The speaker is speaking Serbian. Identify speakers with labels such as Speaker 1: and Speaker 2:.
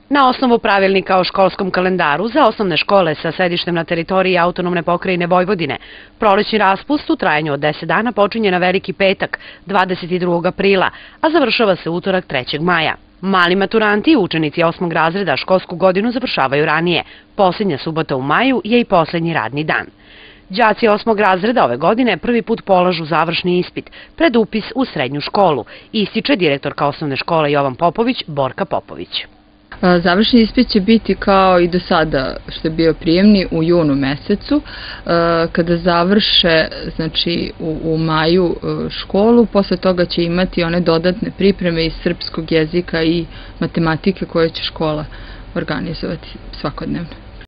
Speaker 1: Na osnovu pravilnika o školskom kalendaru za osnovne škole sa sedištem na teritoriji autonomne pokrajine Vojvodine, prolećni raspust u trajanju od 10 dana počinje na Veliki petak, 22. aprila, a završava se utorak 3. maja. Mali maturanti i učenici 8. razreda školsku godinu završavaju ranije. Posljednja subota u maju je i posljednji radni dan. Đaci 8. razreda ove godine prvi put polažu završni ispit pred upis u srednju školu, ističe direktorka osnovne škole Jovan Popović, Borka Popović.
Speaker 2: Završni ispit će biti kao i do sada što je bio prijemni u junu mesecu. Kada završe, znači u maju školu, posle toga će imati one dodatne pripreme iz srpskog jezika i matematike koje će škola organizovati svakodnevno.